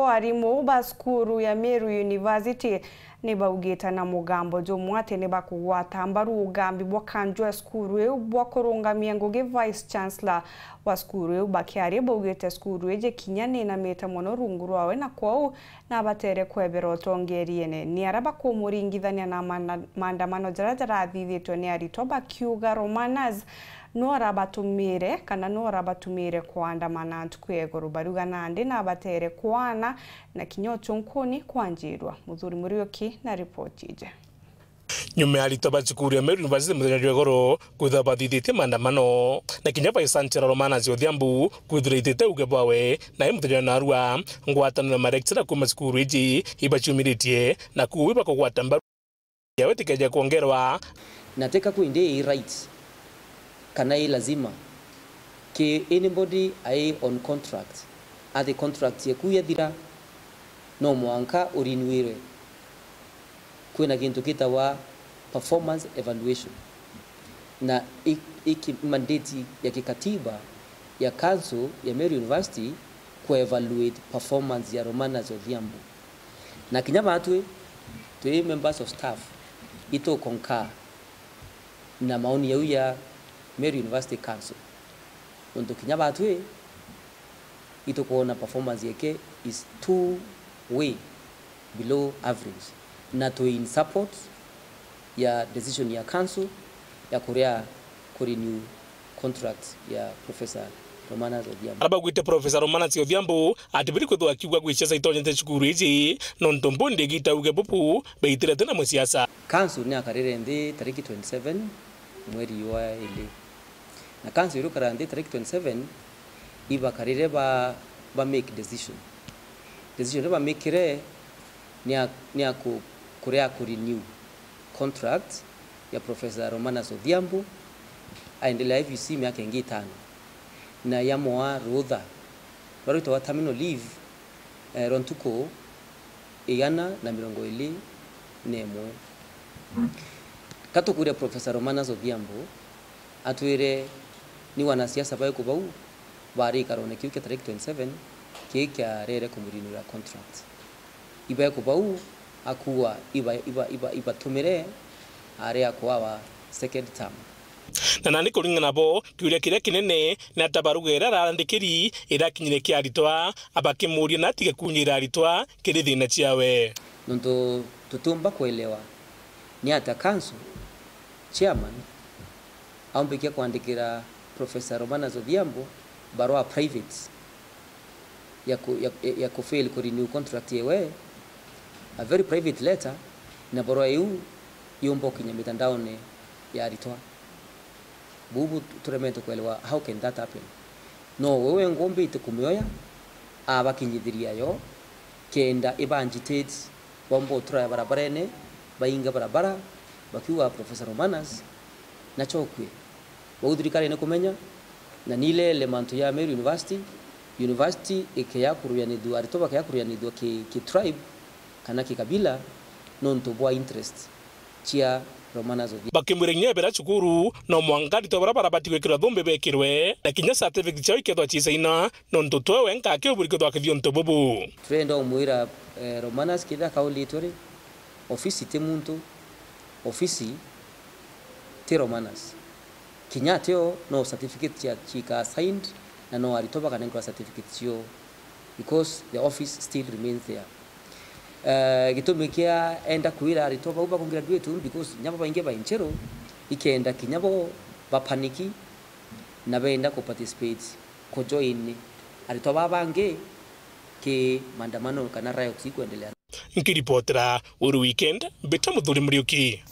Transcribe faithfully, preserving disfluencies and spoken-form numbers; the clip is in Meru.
Arimu ba cukuru ya Meru University ni baugite na mugambo jumwe ati ni bakugwata mbaru ugambi bwa kanju ya cukuru iu bwa kurungamia ngugi. Vice Chancellor wa cukuru iu bakiaria baugite cukuru iji kinya ni inamite mono rungu rwawe, na kwou nabatere kwebera utongeriene. Ni aria bakumuringithania na maana-, maandamano jaria jarathithitwe ni aritwa bakiuga Romanas no arabatumire kana no arabatumire kwandamana ntuku ya iguru. Bariuga nandi nabatere kwana na kinya uchunkuni kwanjirwa. Muthuri Muriuki na ripoti iji. Nyuma ya aritwa ba cukuru ya Meru University muthenya jwa iguru kwithirwa bathithitie maandamano, na kinya Vice Chancellor Romanas Odhiambo kwithirwa aitite uge bwawe, na i muthenya wa narua ngwataniro ya malecturer kuuma cukuru iji ibaciumiritie, na kwou ibakugwata mbaru yawe tikeje kwongerwa. Na teka kwindi i right kana i lazima ki anybody ai on contract, athi contract yeku yathira, no mwanka urinwirwe. Kwina gintu gitawa performance evaluation, na i, i ki-, mandate ya kikatiba ya council ya Meru University ku evaluate performance ya Romanas Odhiambo. Na kinya batwi twi members of staff, itu concur na maoni yau ya Meru University Council. Nontu kinya batwi itukwona performance yake is too way below average, na twi in support ya decision ya council ya kuria ku renew contract ya Professor Romanas Odhiambo. Aria baugite Professor Romanas Odhiambo ati biri kwithirwa akiuga gwi siasa itonyete cukuru iji, nontu mbundi igita uge bubu beitirete na musiasa. Council ni akarire nthi tariki twenty seven mweri wa ili. Na council irukara nthi tariki twenty seven, ibakarire ba, ba make decision. Decision iria bamikire ni ya, ni ya ku, kuria ku renew contract ya Professor Romanas Odhiambo, aendelea I V C miaka ingi itano, na yamoa rutha rwa rwitagwa terminal leave, eh, rwa ntuku igana na mirongo iri na imwe. Ka tukuria Professor Romanas Odhiambo atwire ni wanasiasa baiku bau bari ikarone kiu kia tariki twenty seven kii kiarere kumurinura contract. Ibaiku bau akuua iba, iba, iba, ibatumire ari akuawa second term. Na nandi kuringana nabo, kiuria kiria kinene ni ata baruga iria arandikiri irakinyire kia aritwa, abakimuria na atige kunyira aritwa kiri thina ciawe. Nontu tutiumba kuelewa ni ata council chairman aumbikia kwandikira Professor Romanas Odhiambo barua private ya ku, ya, ya, ya ku fail ku renew contract yewe, a very private letter, na barua iu yumba ukinya mitandaone ya aritwa. Bubu turemete kuelewa, how can that happen? No we wengwa umbite kumioya, abakinyithiria yo, kenda iba agitate, baumba utura barabarene, bainga barabara, bakiuga Professor Romanas nachokue. Bau thirikari ni kumenya, na ni ilele mantu ya Meru University, university ikeya kuruyanithua, aritwa bakeya kuruyanithua ki, ki tribe kana ki kabila, nontu bwa interest cia Romanas Odhiambo. Bakimwira kinya ebera cukuru, no mwanka aritwa baria barabati gwikirwa thumbi bekirwe, na kinya certificate ciao ikethwa ciisaina, nontu twe wenka akiuburi kwithwa akithia untu bubu. Turenda umwira, eh, Romanas kethira akaulitwe ri, ofisi ti muntu, ofisi ti Romanas. Kinya ateo no certificate cia, cikaa signed, na no aritwa bakanenkerwa certificate cio, because the office still remains there. Eh, gitumi kia enda kwira aritwa bau ba graduate uu, because kinya bo baingi ba Inchero, ikenda kinya bo bapaniki na benda ku participate, ku join aritwa baa bangi ki maandamano kana riots ikwendelea. Nkiripotera Uru Weekend, mbita Muthuri Muriuki.